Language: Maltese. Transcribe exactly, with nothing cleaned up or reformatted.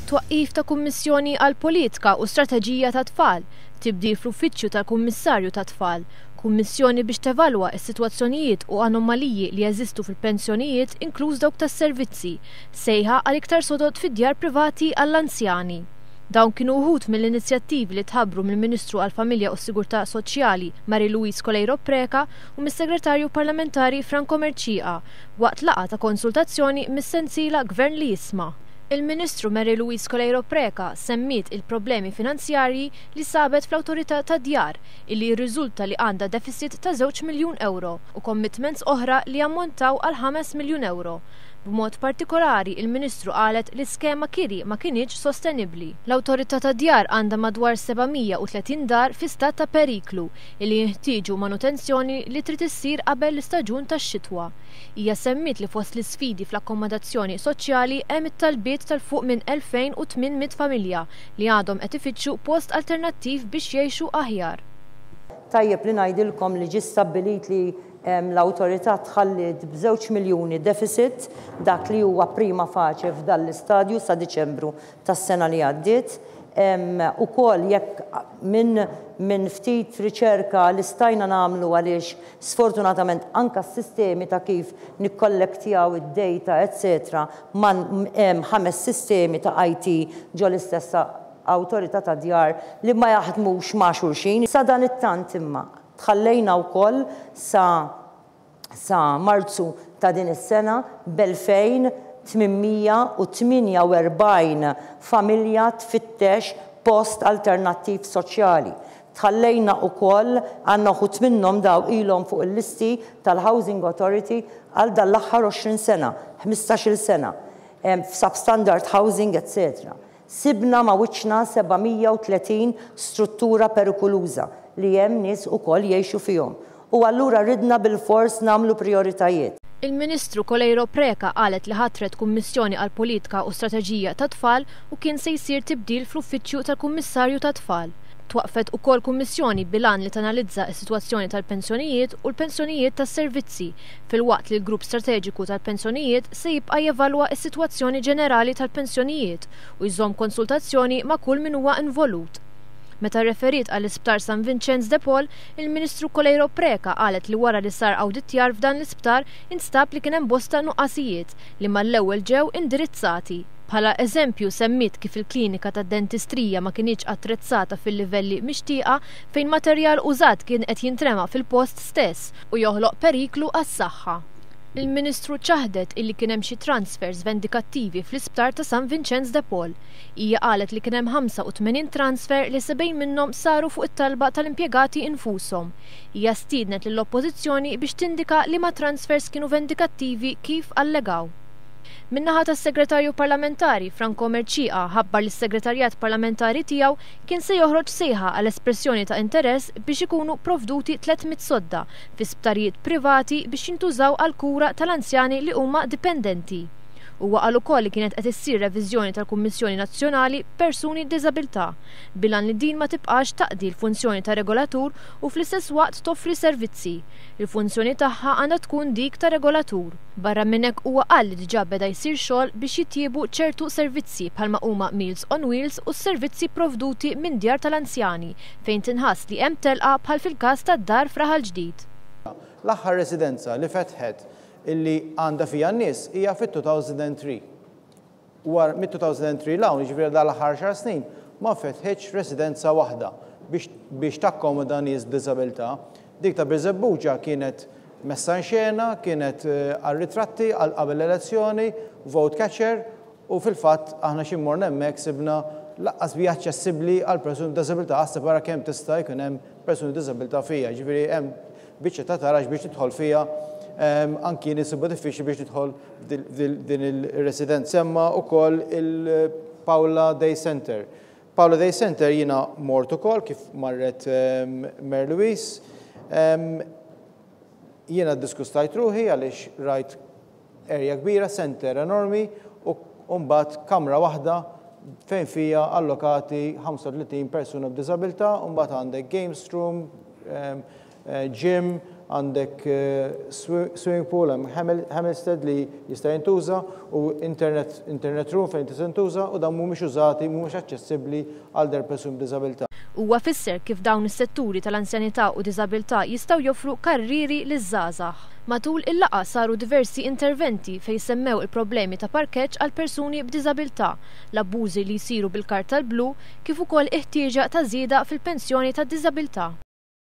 Twaqqif ta' Kummissjoni għal Politika u Strateġija ta' Tfal, tibdil fl-Uffiċċju tal-Kummissarju ta' Tfal, kummissjoni biex tevalwa s-sitwazzjonijiet u anomaliji li jeżistu fil-pensjonijiet, inkluż dawk tas-servizzi, sejħa għal iktar sodod fid-djar privati għall-anzjani. Dawn kienu uħud mill-inizjattivi li tħabbru mill-Ministru għall-Familja u s-Sigurtà Soċjali Marie Louise Coleiro Preca u mis-Segretarju Parlamentari Franco Mercieca waqt laqgħa ta' konsultazzjoni mis-sensiela Gvern li Jisma'. Il-Ministru Mary Louise Coleiro Preca semmiet il-problemi finanzjarji li sabet fl-Awtorità tad-Djar, illi jirriżulta li għandha deficit ta' żewġ miljun euro u commitments oħra li jammontaw għal ħames miljun euro. B'mod partikolari, il-Ministru qalet li skema kiri ma kinitx sostenibbli. L-Awtorità tad-Djar għandha madwar seba' mija u tletin dar fi stat ta' periklu illi jinħtieġu manutenzjoni li trid issir qabel l-istaġun tax-xitwa. Hija semmiet li fost l-isfidi fl-akkomodazzjoni soċjali hemm it-talbiet tal-fuq minn elfejn u tmien mitt familja li għadhom qed ifittxu post alternattiv biex jgħixu aħjar. Tajjeb li ngħidilkom li ġie stabbilit li, em, l-awtorità tħalliet b'żewġ miljuni deficit, dak li huwa prima facie f'dan l-istadju sa Diċembru tas-sena li għaddiet. Em, ukoll jekk minn, minn ftit riċerka li stajna nagħmlu, għaliex sfortunatament anka s-sistemi ta' kif nikkollektjaw id-data, eccetera, man hemm ħames sistemi ta' I T ġo l-istess awtorità ta' djar li ma jaħdmux ma' xulxin. Sa dan it-tant imma tħallejna wkoll sa, sa Marzu ta' din is-sena b'elfejn tmienmija u tmienja u erbgħin familja tfittex post alternattiv soċjali. Tħallejna wkoll għandna uħud minnhom daw ilhom fuq il-listi tal-Housing Authority għal dan l-aħħar għoxrin sena, ħmistax-il sena, em, f'substandard housing, eccetera. Sibna ma' wiċċna seba' mija u tletin struttura perikoluża li hemm nies ukoll jgħixu fihom. U allura ridna bil-fors nagħmlu prioritajiet. Il-Ministru Coleiro Preca qalet li ħatret Kummissjoni għal Politika u Strateġija ta' Tfal u kien se jsir tibdil fl-Uffiċċju tal-Kummissarju ta' Tfal. Twaqfet ukoll kummissjoni bil-għan li tanalizza s-sitwazzjoni tal-pensjonijiet u l-pensjonijiet tas-servizzi, filwaqt li l-grupp strateġiku tal-pensjonijiet se jibqa' jevalwa s-sitwazzjoni ġenerali tal-pensjonijiet u jżomm konsultazzjoni ma' kull min huwa involut. Meta referiet għall-Isptar San Vincenz de Paul, il-Ministru Coleiro Preca qalet li wara li sar awditjar f'dan l-isptar instab li kien hemm bosta nuqqasijiet li mal-ewwel ġew indirizzati. Bħala eżempju semmiet kif il-klinika tad-dentistrija ma kinitx attrezzata fil-livelli mixtieqa fejn materjal użat kien qed jintrema fil-post stess u joħloq periklu għas-saħħa. Il-Ministru ċaħdet illi kien hemm xi transfers vendikattivi fl-isptar ta' San Vincenz de Paul. Hija qalet li kien hemm ħamsa u tmenin transfer li sebgħin minnhom saru fuq it-talba tal-impjegati infushom. Hija stiednet lill-Oppożizzjoni biex tindika li ma transfers kienu vendikattivi kif allegaw. Min-naħa tas-Segretarju Parlamentari Franco Mercieca ħabbar li s-Segretarjat Parlamentari tiegħu kien se joħroġ sejħa għal espressjoni ta' interess biex ikunu provduti tliet mitt sodda fi sptarijiet privati biex jintużaw għal kura tal-anzjani li huma dipendenti. Huwa qal ukoll li kienet qed issir reviżjoni tal-Kummissjoni Nazzjonali Persuni b'Diżabilità bil-għan li din ma tibqax taqdi l-funzjoni ta' regolatur u fl-istess waqt toffri servizzi. Il-funzjoni tagħha għandha tkun dik ta' regolatur. Barra minn hekk huwa qal li diġà beda jsir xogħol biex jitjiebu ċertu servizzi bħalma huma Meals on Wheels u s-servizzi provduti minn djar tal-anzjani fejn tinħass li hemm telqa bħal fil-każ tad-dar f'Raħal Ġdid. L-aħħar residenza li fetħet illi għandha fija n-nies hija fit-two thousand and three. War mit-two thousand and three l-hawn, jiġifieri dal-aħħar xar snin, ma fetħitx residenza waħda biex, biex takkomoda nies b'diżabilità. Dik ta' Birżebbuġa kienet messa in xena, kienet, eh, għal-ritratti għal qabel l-elezzjoni, vote catcher, u fil-fatt aħna xi mmorna hemmhekk sibna laqqas bi aċċessibbli għal persuni b'diżabilità, għas separa kemm tista' jkun hemm persuni b'diżabilità fija. Ġifieri hemm biċċa ta' taraġ biex tidħol fija, ehm, anki nisibu diffiċli biex tidħol din il-residenza. Semma wkoll il-Paola Day Center. Paola Day Center jiena mort ukoll kif marret, ehm, Mary Louise. Ehm, jiena ddiskustajt ruħi għaliex rajt area kbira, center enormi, u mbagħad kamra waħda fejn fija allokati ħamsa u tletin persuna b'diżabilità, u mbagħad għandek games room, ehm, eh, gym, għandek eh, swimming pool, hemm Hamilstead li jista' jintuża u internet, internet room fejn tista' jintuża u dan mhumiex użati, mhumiex aċċessibbli għal der persuni b'diżabilità. Huwa fisser kif dawn is-setturi tal-anzjanità u diżabilità jistgħu joffru karriri liż-żgħażagħ. Matul il-laqgħa saru diversi interventi fejn semmew il-problemi ta' parkeġġ għal persuni b'diżabilità, l-abbużi li jsiru bil-karta l-blu, kif ukoll il-ħtieġa ta' żieda fil-pensjoni ta' diżabilità.